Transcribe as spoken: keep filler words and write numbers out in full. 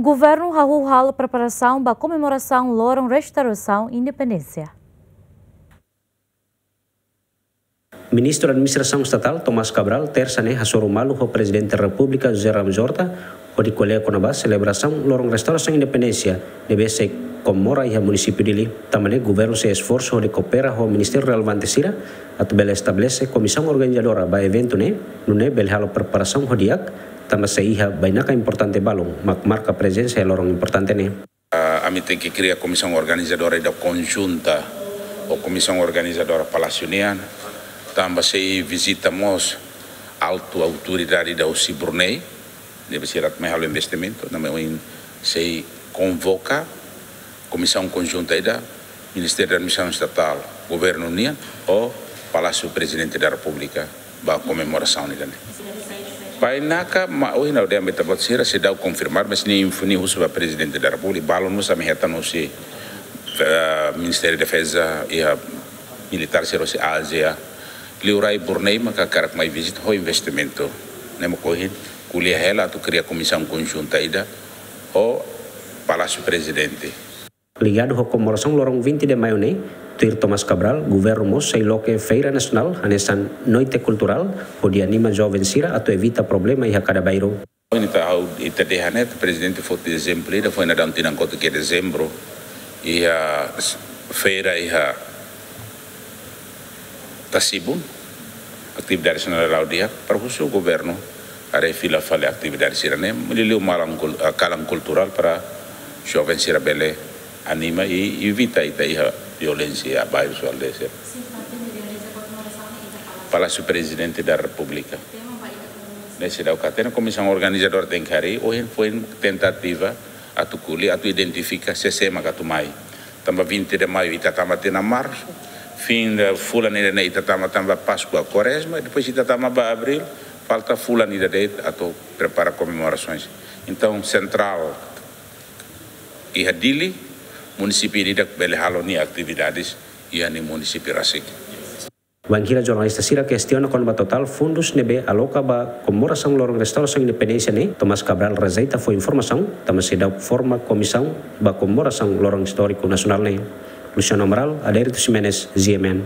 Governu hahú halo preparasaun ba komemorasaun loron restaurasaun independénsia. Ministru Administrasaun Estatál Tomás Cabral, tersa ne'e, hasoru malu ho Prezidente Repúblika José Ramos Horta, hodi ko'alia kona-ba selebrasaun loron restaurasaun independénsia ne'ebé sei komemora iha munisípiu Dili. Tanba ne'e, governu sei esforsu hodi koopera ho ministériu relevante sira atu bele estabelese komisaun organizadora ba eventu ne'e, nune'e bele halo preparasaun ho di'ak, tanba sei iha bainaka importante balun mak marka prezensa iha loron importante ne'e. Ah, ami tenke kria komisaun organizadora ida konjunta ho komisaun organizadora Palásiu nian, tanba sei vizita mós altu autoridade ida husi Brunei, ne'ebé sira mai halo investimentu, ne'ebé ohin sei konvoka komisaun konjunta ida, Ministériu da Administrasaun Estatál, Governu nian, ho Palásiu Prezidente da Repúblika, ba komemorasaun ida-ne'e. Bainaka, ma ohin ha'u dehan ba ita-boot sira, seidauk konfirmar, mas ne'e info ne'e husu ba Prezidente da Repúblika, balun mós ami hetan husi, eh, Ministériu Defeza, iha militár sira husi Ázia, liurai Brunei maka hakarak mai vizita ho investimentu. Ne'e mak ohin ko'alia hela atu kria komisaun konjunta ida ho Palásiu Prezidente. Ligadu ho komemorasaun loron vinte de Maio ne'e, tuir Tomás Cabral, governu mós sei loke feira nasionál hanesan noite kulturál, hodi anima joven sira atu evita problema iha kada bairru. Ohin ita ha'u, ita dehan ne'e, Prezidente foti ezemplu ida, foin daudaun tinan kotuk iha dezembru, iha s-, feira iha Tasibun, atividade sira la'o di'ak, para husu governu haree fila fali atividade sira-ne'e, liuliu malan kul-, ah, kalan kulturál para joven sira bele anima i evita ita iha violénsia iha bairru sira-ne'e. Palásiu Prezidente da Repúblika. Ne'e seidauk hatene, komisaun organizadora tenke harii, ohin foin tentativa atu ko'alia, atu identifika sé-sé mak atu mai. Tanba vinte de Maio ita tama tiha ona marsu, fin de fulan ida-ne'e ita tama tanba Páskua, Kuarezma, depois ita tama ba Abríl, falta fulan ida de'it atu prepara komemorasaun. Entaun, sentrál iha Dili, munisípiu ida-idak bele halo nia atividades iha nia munisípiu rasik. Bainhira jornalista sira kestiona kona-ba totál fundus ne'ebé aloka ba komemorasaun loron restaurasaun independénsia ne'e, Tomás Cabral rejeita fó informasaun, tanba seidauk forma komisaun ba komemorasaun loron istóriku nasionál ne'e. Luciano Amaral, Adérito Ximenes, G M N.